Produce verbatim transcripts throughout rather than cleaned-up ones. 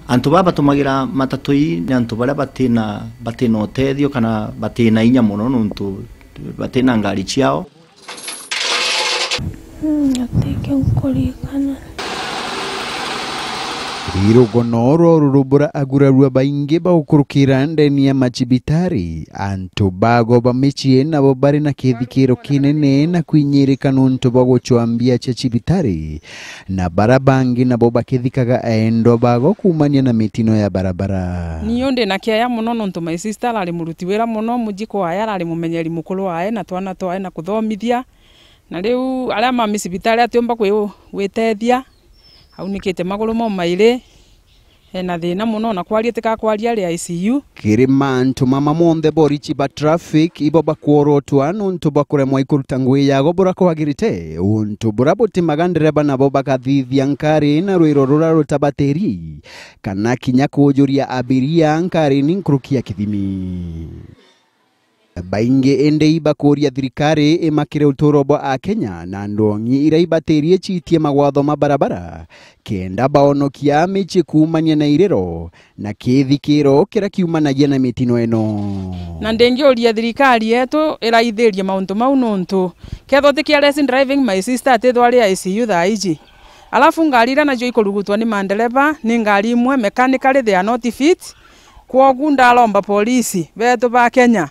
Antu baa batumagira matatu ii ni antu baria batina, batina utethio kana batina inya mono, nontu batina ngari ciao. Mm, ateke nkurikana. Irugono rwa ururu bura agurarua baingi baukurukira ndeni ya macibitari, antu bago ba micii nabo bari na kithikiro kinene na kwinyirika nontu bwa gucwa mbia cia cibitari, na bara bangi nabo bakithikaga aendwa bago kuumania na mitino ya barabara. Niu ndi na kiaya mono nontu my sister arari muruti wira mono muji kwaya, arari mumenyeri mukuru wae na twana twae na kuthomithia. Na riu aria mami cibitari atiumba kwi-, gwitethia, aunikite maguru mo mairi, ena thina mono, na kwaria tikakwaria ari I C U. Kiri mantu mama monthe, borichi ba traffic ibo bakworotwa nontu bwa kuremwa ikuruta ngugi yago bura kwagirite, untu bura butimaga ndereba nabo bakathithia nkari na rwiro rura rutabatiri, kana kinya kujuria abiria nkari ni nkuruki ya kithimi. Baingi indi ibakuria thirikari imakire uturo bwa Akenya na ndongi iria ibatirie ciitie magwatho ma barabara, kenda baonokia micii kuumania na iriro na kithikiro kiria kiumanagia na mitino ino. Na ndingiuria thirikari yetu iraithirie mauntu mau, nontu kethwa ti careless driving, my sister atithwa ari I C U thaa iji. Alafu ngari iria nacio ikurugutwa ni mandereba ni ngari imwe mechanically they are not fit. Kwogu ndaromba polisi betu ba Kenya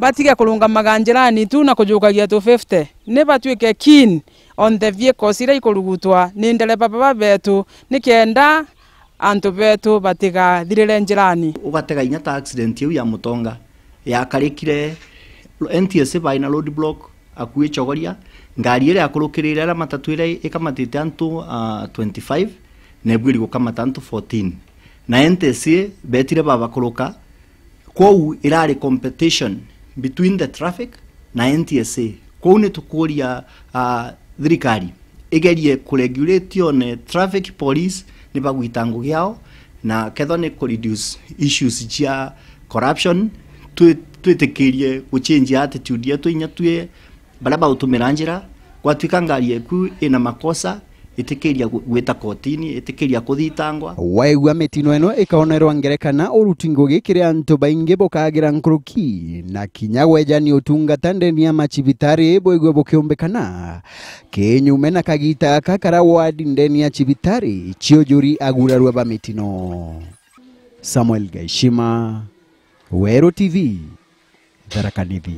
batige kurungamaga njirani tu na kujukagia two fifty. Ni batuike keen on the vehicles iria ikurugutwa ni ndereba baba betu, nikenda antu betu batigathirire njirani. Ugatega inya ta accident iu ya Mutonga yakarikire, N T S A bai na road block, akui Chogoria, ngari iria yakurukirire aria matatu iria ikamatite antu, ah, twenty-five, na ibwiri gukamata antu fourteen. Na N T S A betire babakuruka, kwou irari competition between the traffic na N T S A. Kwou ni tukuria, ah, thirikari igerie kuregulate one traffic police ni bagwita ngugi yao, na kethwa ni ku reduce issues cia corruption, twi-, twitikirie guchange attitude yetu inya twi baria bautumira njira, gwatuika ngari eku ina makosa, itikiria gu-, gwita kotini, itikiria kuthitangwa. Waigua mitino ino ikaonerwa ngerekana, uruti ngugi kiri antu baingi bukagira nkuruki, na kinya gwejani utungata ndeni ya macibitari bwigwe bukiumbikana. Kinyume na kagita gaka karia wadi ndeni ya cibitari ciujuri agurarua ba mitino. Samuel Gaishima, Weru T V, Tharaka Nithi.